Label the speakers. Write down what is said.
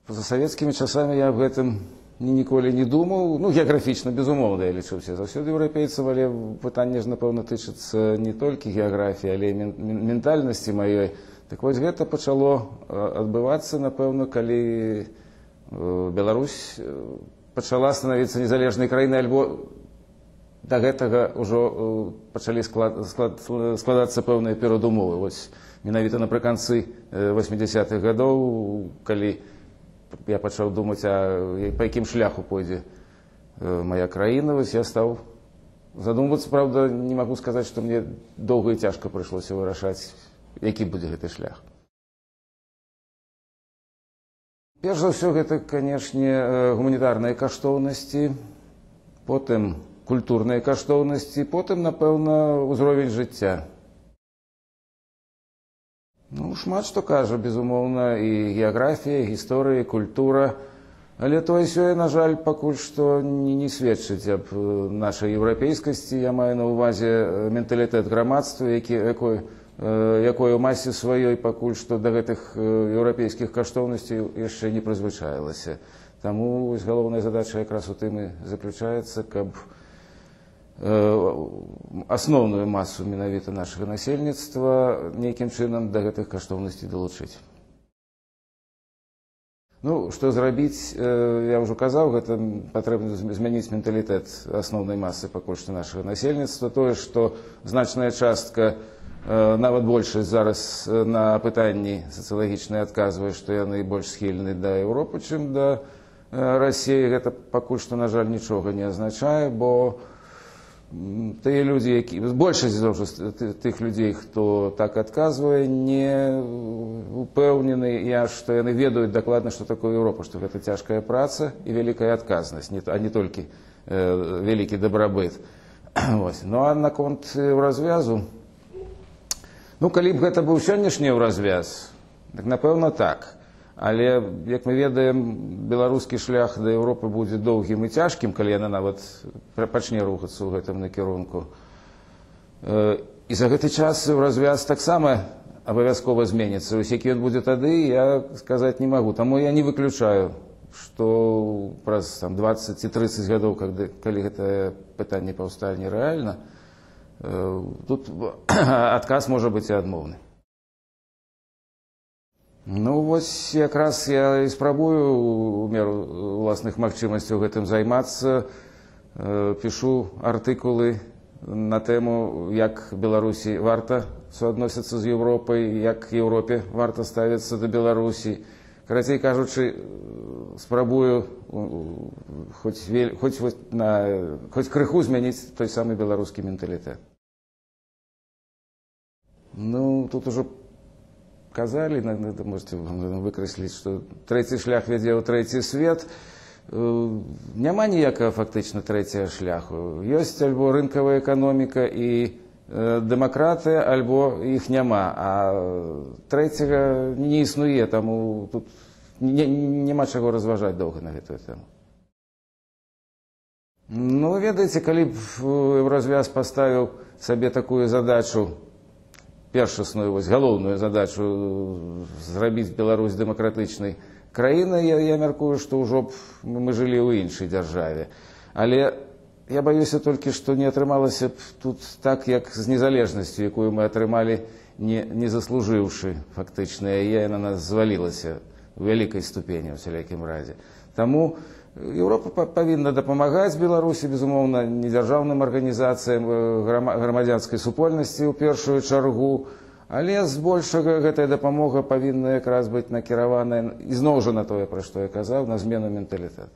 Speaker 1: За савецкімі часамі я аб гэтым ніколі не думаў. Ну, геаграфічна, безумоўна, я лічу все заўсёды еўрапейцам, але пытанне ж, напэўна, тычыцца не толькі геаграфіі, але і ментальнасці маёй. Так вось гэта пачало адбывацца, напэўна, калі Беларусь пачала становіцца незалежнай краінай, альбо да гэтага ўжо пачалі складацца пэўныя перадумовы. Вось менавіта напрыканцы 80-х гадоў, калі я пачаў думаць, па якім шляху пойдзе моя краіна, вось я стаў задумвацца. Правда, не магу сказаць, што мне доўга і цяжка прыйшлося вырашаць, які будзе гэты шлях. Перш за ўсё, гэта, канешне, гуманітарныя каштоўнасці, потым культурныя каштоўнасці, потым, напэўна, узровень жыцця. Ну, шмат што кажа, безумоўна, і геаграфія, і гісторыя, і культура. Але тое-сёе, на жаль, пакуль што не сведчыць аб нашай еўрапейскасці. Я маю на ўвазе менталітэт грамадства, якое ў масе сваёй пакуль што да гэтых еўрапейскіх каштоўнасцей яшчэ не прызвычаілася. Таму галоўная задача якраз у тым і заключаецца, каб асноўную масу менавіта нашага насельніцтва нейкім чынам да гэтых каштоўнасцей далучыць. Ну, што зрабіць, я ўжо казаў, гэта патрэбна змяніць менталітэт асноўнай масы пакуль што нашага насельніцтва. Тое, што значная частка, нават большасць зараз на пытанні сацыялагічныя адказвае, што яны больш схільны да Еўропы, чым да Расіі, гэта пакуль што, на жаль, нічога не азначае, бо тыя людзі, большасць тых людзей, хто так адказвае, не упэўнены, што яны ведаюць дакладна, што такое Еўропа, што гэта цяжкая праца і вялікая адказнасць, а не толькі вялікі дабрабыт. Ну, а наконт развязу, ну, калі б гэта быў сённяшні развяз, так, напэўна, так. Але, як мы ведаем, беларускі шлях да Еўропы будзе доўгім і цяжкім, калі яна нават пачне рухацца ў гэтым накірунку. І за гэты час развяз таксама абавязкова зменіцца. Вось які ён будзе тады, я сказаць не магу. Таму я не выключаю, што праз 20 ці 30 гадоў, калі гэтае пытанне паўстане рэальна, тут адказ можа быць і адмоўны. Ну, вось якраз я і спрабую у меру ўласных магчымасцяў гэтым займацца. Пішу артыкулы на тэму, як Беларусі варта суадносіцца з Еўропай, як Еўропе варта ставіцца да Беларусі. Карацей кажучы, спрабую хоць крыху змяніць той самы беларускі менталітэт. Ну, тут ужо казалі, можете выкрэсліць, што трэці шлях вядзе ў трэці свет. Няма ніякага фактычна трэцяга шляху. Ёсць альбо рынкавая эканоміка і дэмакратыя, альбо іх няма. А трэцяга не існуе, таму тут няма чаго разважаць доўга на гэтую тэму. Ну, ведаеце, калі б Еўразвяз паставіў сабе такую задачу, першасную, галоўную задачу зрабіць Беларусь дэмакратычнай краінай, я мяркую, што ўжо б мы жылі ў іншай дзяржаве. Але я баюся толькі, што не атрымалася б тут так, як з незалежнасцю, якую мы атрымалі, не заслужыўшы фактычна, яе на нас звалілася у вялікай ступені, у всялякім разе. Таму Еўропа павінна дапамагаць Беларусі, безумоўна, недзяржаўным арганізацыям, грамадзянскай супольнасці ў першую чаргу, але збольшага гэтая дапамога павінна якраз быць накіраваная ізноў жа на тое, пра што я казаў, на змену менталітэту.